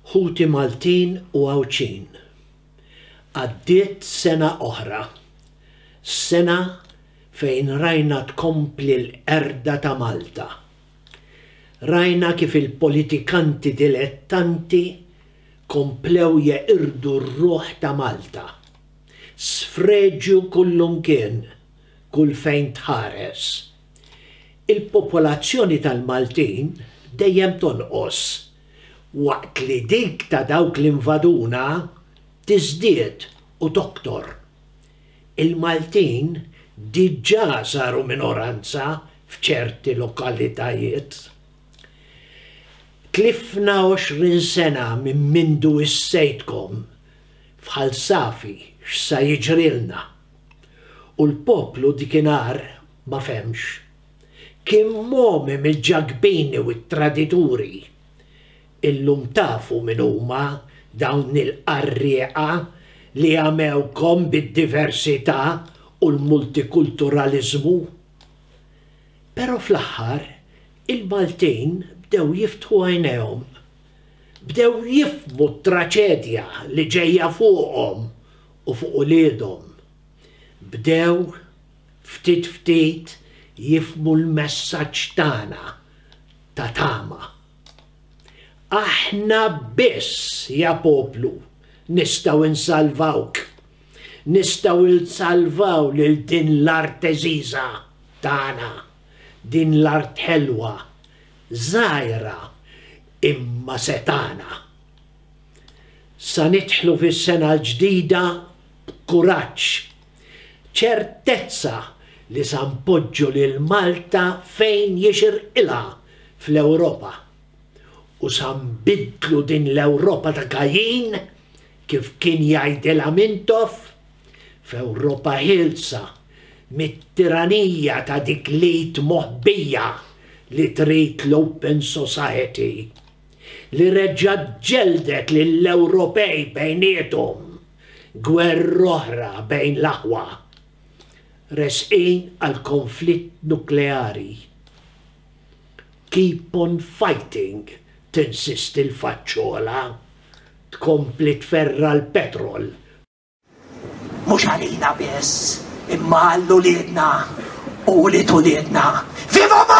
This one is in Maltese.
Ħuti Maltin u Għawdxin, għaddiet sena oħra. Sena fejn rajna tkompli l-qerda ta' Malta. Rajna kif il-politikanti dilettanti komplew jeqirdu r-ruħ ta' Malta. Sfreġju kullumkien, kull fejn tħares. Il-popolazzjoni tal-Maltin dejjem tonqos, waqt li dik ta' dawk li nvaduna tiżdied u toktor. Il-Maltin diġà saru minoranza f'ċerti lokalitajiet. Tlifna 20 sena minn mindu wissejtkom f'Ħal Safi x'sa jiġrilna. U l-poplu dikinhar ma fehmx. Kien mogħmi mill-ġakbini u t-tradituri. Illum tafu min huma dawn il-qarrieqa li għamewkom bid-diversità u l-multikulturaliżmu. Però fl-aħħar il-Maltin bdew jiftħu għajnejhom. Bdew jifhmu t-traċedja li ġejja fuqhom u fuq uliedhom. Bdew ftit ftit jifhmu l-messaġġ tagħna ta' tama. Aħna biss, ja poplu, nistgħu nsalvawk. Nistgħu nsalvaw lil din l-art għeżiża tagħna, din l-art ħelwa, żgħira imma setgħana. Sa nidħlu fis-sena l-ġdida b'kuraġġ, ċertezza li sa npoġġu lil Malta fejn jixirqilha fl-Ewropa u sa nbiddlu din l-Ewropa ta' Kajin, kif kien jgħidilha Mintoff, f'Ewropa ħielsa mit-tiranija ta' dik l-id moħbija li trid l-open society, li reġgħet ġelldet lill-Ewropej bejniethom. Gwerra oħra bejn l-aħwa. Resqin għal konflitt nukleari. Keep on fighting, tinsisti l-faċċola. Tkompli tferra' l-petrol. Mhux għalina biss, imma għal uliedna u ulied uliedna. Viva Malta!